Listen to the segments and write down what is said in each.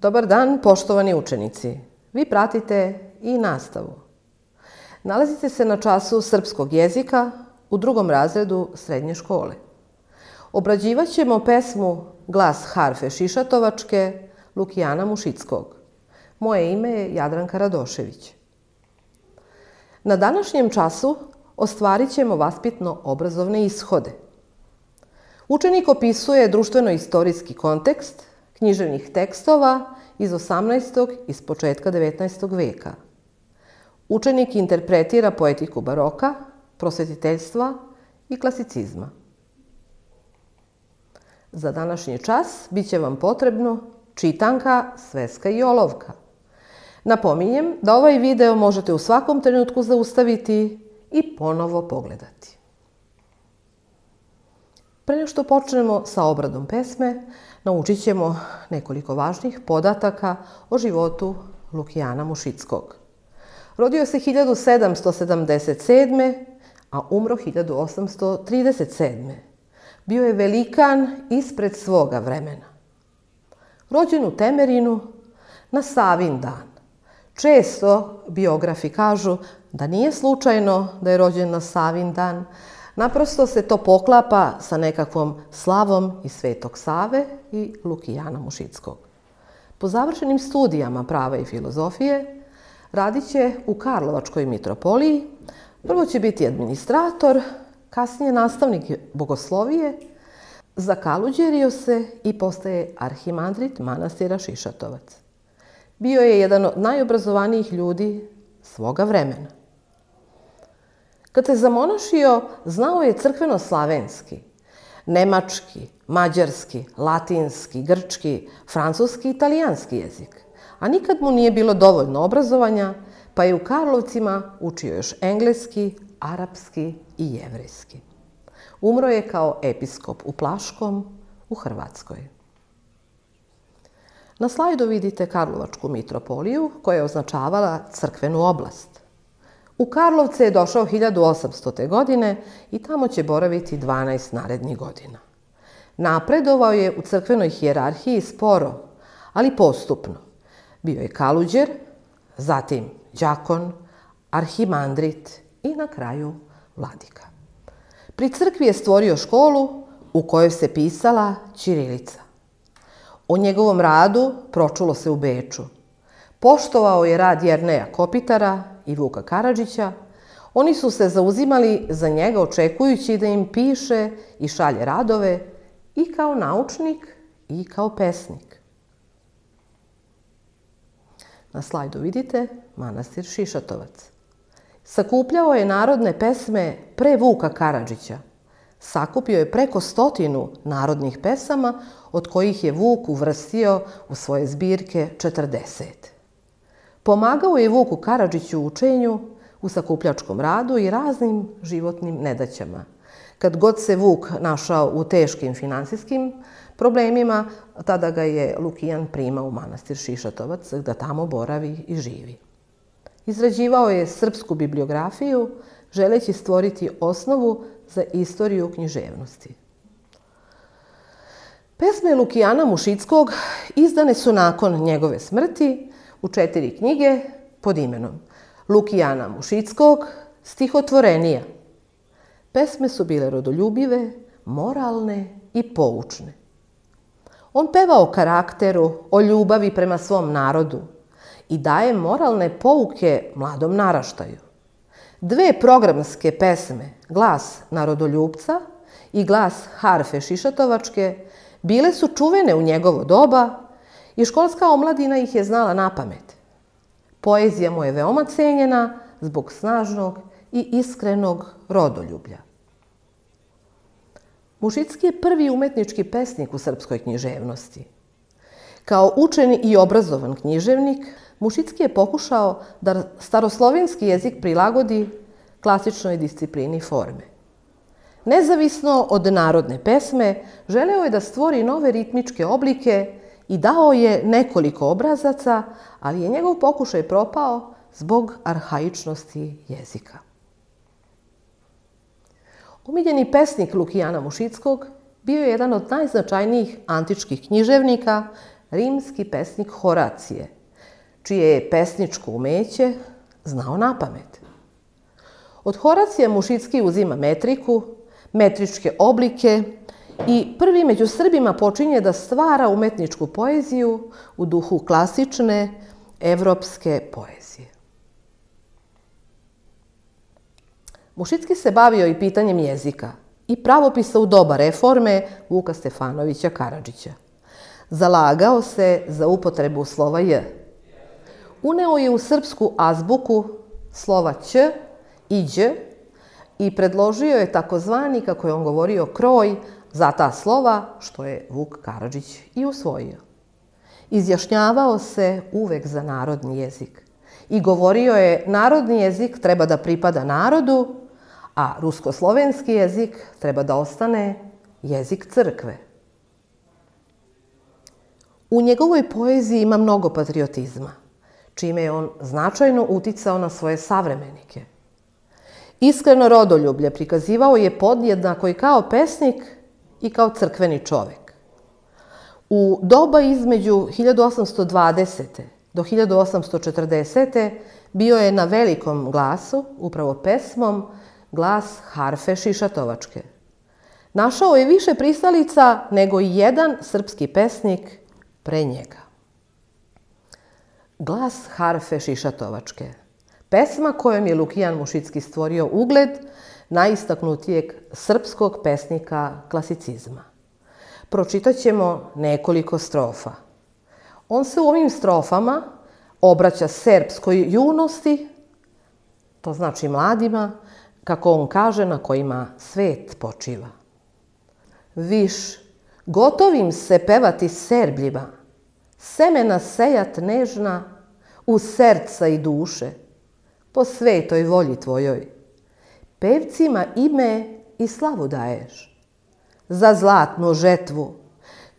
Dobar dan, poštovani učenici. Vi pratite i nastavu. Nalazite se na času srpskog jezika u 2. razredu srednje škole. Obrađivat ćemo pesmu Glas harfe Šišatovačke Lukijana Mušickog. Moje ime je Jadranka Radošević. Na današnjem času ostvarit ćemo vaspitno-obrazovne ishode. Učenik opisuje društveno-istorijski kontekst književnih tekstova iz 18. i s početka 19. veka. Učenik interpretira poetiku baroka, prosvetiteljstva i klasicizma. Za današnji čas bit će vam potrebno čitanka, sveska i olovka. Napominjem da ovaj video možete u svakom trenutku zaustaviti i ponovo pogledati. Pre nego što počnemo sa obradom pesme, naučit ćemo nekoliko važnih podataka o životu Lukijana Mušickog. Rodio se 1777. a umro 1837. Bio je velikan ispred svoga vremena. Rođen u Temerinu na Savin dan. Često biografi kažu da nije slučajno da je rođen na Savin dan, naprosto se to poklapa sa nekakvom slavom iz Svetog Save i Lukijana Mušickog. Po završenim studijama prava i filozofije radit će u Karlovačkoj mitropoliji. Prvo će biti administrator, kasnije nastavnik bogoslovije, zakaluđerio se i postaje arhimandrit manastira Šišatovac. Bio je jedan od najobrazovanijih ljudi svoga vremena. Kad se zamonašio, znao je crkveno-slavenski, nemački, mađarski, latinski, grčki, francuski i italijanski jezik. A nikad mu nije bilo dovoljno obrazovanja, pa je u Karlovcima učio još engleski, arapski i jevrejski. Umro je kao episkop u Plaškom u Hrvatskoj. Na slajdu vidite Karlovačku mitropoliju koja je označavala crkvenu oblast. U Karlovce je došao 1800. godine i tamo će boraviti 12 narednih godina. Napredovao je u crkvenoj hijerarhiji sporo, ali postupno. Bio je kaluđer, zatim đakon, arhimandrit i na kraju vladika. Pri crkvi je stvorio školu u kojoj se pisala ćirilica. O njegovom radu pročulo se u Beču. Poštovao je rad Jerneja Kopitara i Vuka Karadžića. Oni su se zauzimali za njega očekujući da im piše i šalje radove i kao naučnik i kao pesnik. Na slajdu vidite manastir Šišatovac. Sakupljao je narodne pesme pre Vuka Karadžića. Sakupio je preko 100 narodnih pesama, od kojih je Vuk uvrstio u svoje zbirke 40. Pomagao je Vuku Karadžiću u učenju, u sakupljačkom radu i raznim životnim nedaćama. Kad god se Vuk našao u teškim finansijskim problemima, tada ga je Lukijan primao u manastir Šišatovac, da tamo boravi i živi. Izrađivao je srpsku bibliografiju, želeći stvoriti osnovu za istoriju književnosti. Pesme Lukijana Mušickog izdane su nakon njegove smrti u 4 knjige pod imenom Lukijana Mušickog, Stihotvorenija. Pesme su bile rodoljubive, moralne i poučne. On peva o karakteru, o ljubavi prema svom narodu i daje moralne pouke mladom naraštaju. 2 programske pesme, Glas narodoljubca i Glas harfe Šišatovačke, bile su čuvene u njegovo doba i školska omladina ih je znala napamet. Poezija mu je veoma cenjena zbog snažnog i iskrenog rodoljublja. Mušicki je prvi umetnički pesnik u srpskoj književnosti. Kao učen i obrazovan književnik, Mušicki je pokušao da staroslovenski jezik prilagodi klasičnoj disciplini forme. Nezavisno od narodne pesme, želeo je da stvori nove ritmičke oblike i dao je nekoliko obrazaca, ali je njegov pokušaj propao zbog arhaičnosti jezika. Omiljeni pesnik Lukijana Mušickog bio je jedan od najznačajnijih antičkih književnika, rimski pesnik Horacije, čije je pesničko umeće znao napamet. Od Horacija Mušicki uzima metriku, metričke oblike i prvi među Srbima počinje da stvara umetničku poeziju u duhu klasične evropske poezije. Mušicki se bavio i pitanjem jezika i pravopisa u doba reforme Vuka Stefanovića Karadžića. Zalagao se za upotrebu slova J. Uneo je u srpsku azbuku slova Ć i Đ i predložio je takozvani, kako je on govorio, kroj za ta slova, što je Vuk Karadžić i usvojio. Izjašnjavao se uvek za narodni jezik i govorio je narodni jezik treba da pripada narodu, a rusko-slovenski jezik treba da ostane jezik crkve. U njegovoj poeziji ima mnogo patriotizma, čime je on značajno uticao na svoje savremenike. Iskreno rodoljublje prikazivao je podjednako i kao pesnik i kao crkveni čovek. U doba između 1820. do 1840. bio je na velikom glasu, upravo pesmom, glas harfe Šišatovačke. Našao je više pristalica nego i jedan srpski pesnik pre njega. Glas harfe Šišatovačke, pesma kojom je Lukijan Mušicki stvorio ugled najistaknutijeg srpskog pesnika klasicizma. Pročitat ćemo nekoliko strofa. On se u ovim strofama obraća serbskoj junosti, to znači mladima, kako on kaže, na kojima svet počiva. Viš, gotovim se pevati Serbljima, semena sejat nežna u serca i duše, po svetoj volji tvojoj. Pevcima ime i slavu daješ. Za zlatnu žetvu,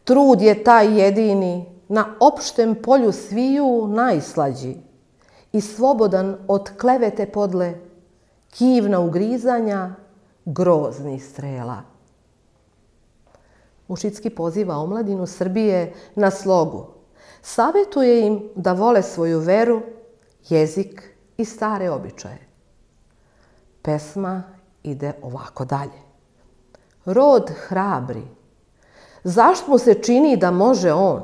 trud je taj jedini, na opštem polju sviju najslađi i slobodan od klevete podle, kivna ugrizanja, groznih strela. Mušicki poziva omladinu Srbije na slogu. Savetuje im da vole svoju veru, jezik i stare običaje. Pesma ide ovako dalje. Rod hrabri, zašto mu se čini da može on?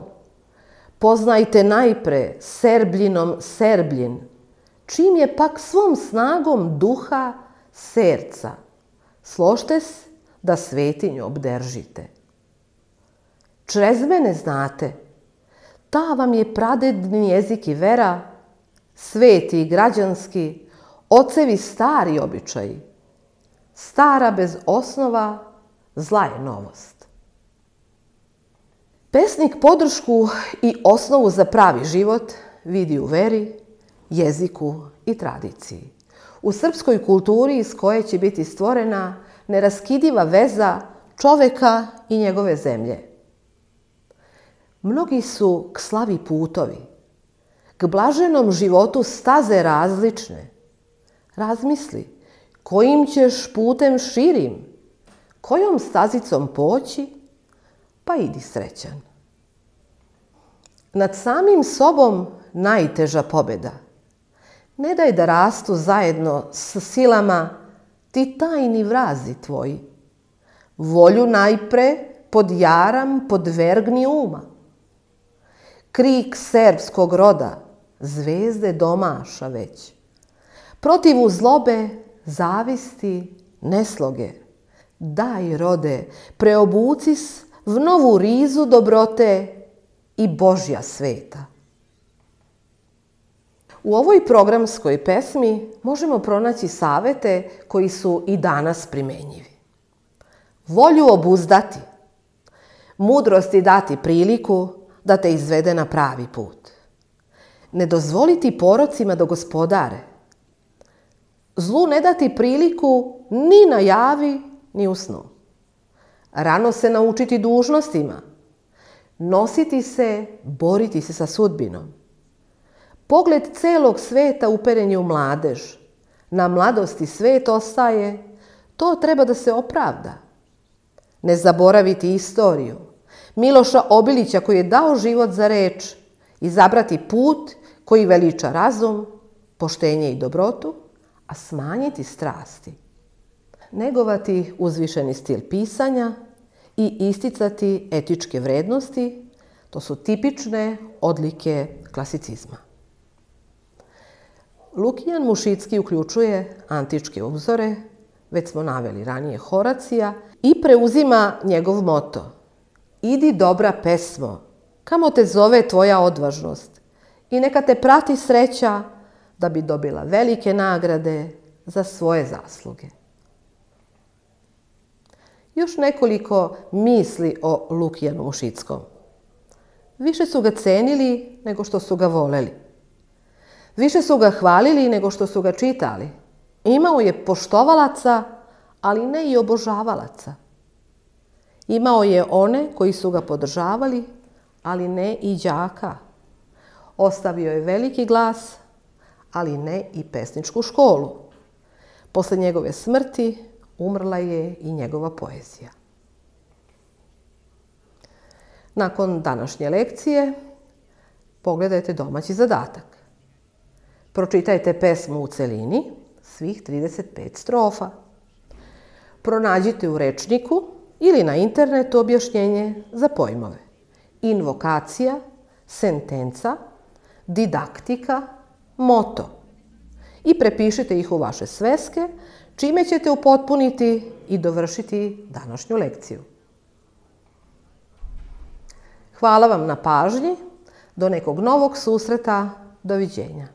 Poznajte najpre Serbljinom Serbljin, čim je pak svom snagom duha serca. Složte se da svetinju obdržite. Črez mene znate, ta vam je pradedni jezik i vera, sveti i građanski, ocevi stari običaji. Stara bez osnova, zla je novost. Pesnik podršku i osnovu za pravi život vidi u veri, jeziku i tradiciji. U srpskoj kulturi iz koje će biti stvorena neraskidiva veza čoveka i njegove zemlje. Mnogi su k slavi putovi, k blaženom životu staze različne. Razmisli, kojim ćeš putem širim, kojom stazicom poći, pa idi srećan. Nad samim sobom najteža pobjeda. Ne daj da rastu zajedno s silama ti tajni vrazi tvoji. Volju najpre pod jaram podvergni uma. Krik serbskog roda, zvezde domaša već. Protivu zlobe, zavisti, nesloge. Daj, rode, preobucis v novu rizu dobrote i Božja sveta. U ovoj programskoj pesmi možemo pronaći savete koji su i danas primenjivi. Volju obuzdati, mudrosti dati priliku da te izvede na pravi put. Ne dozvoliti porocima da gospodare. Zlu ne dati priliku ni na javi, ni u snu. Rano se naučiti dužnostima. Nositi se, boriti se sa sudbinom. Pogled celog sveta uperen je u mladež. Na mladosti svet ostaje, to treba da se opravda. Ne zaboraviti istoriju. Miloša Obilića koji je dao život za reč, izabrati put koji veliča razum, poštenje i dobrotu, a smanjiti strasti. Negovati uzvišeni stil pisanja i isticati etičke vrednosti, to su tipične odlike klasicizma. Lukijan Mušicki uključuje antičke uzore, već smo naveli ranije Horacija, i preuzima njegov moto: idi dobra pesmo, kamo te zove tvoja odvažnost i neka te prati sreća da bi dobila velike nagrade za svoje zasluge. Još nekoliko misli o Lukijanu Mušickom. Više su ga cenili nego što su ga voleli. Više su ga hvalili nego što su ga čitali. Imao je poštovalaca, ali ne i obožavalaca. Imao je one koji su ga podržavali, ali ne i đaka. Ostavio je veliki glas, ali ne i pesničku školu. Posle njegove smrti umrla je i njegova poezija. Nakon današnje lekcije pogledajte domaći zadatak. Pročitajte pesmu u celini, svih 35 strofa. Pronađite u rečniku ili na internetu objašnjenje za pojmove: invokacija, sentenca, didaktika, moto i prepišite ih u vaše sveske, čime ćete upotpuniti i dovršiti današnju lekciju. Hvala vam na pažnji, do nekog novog susreta, doviđenja.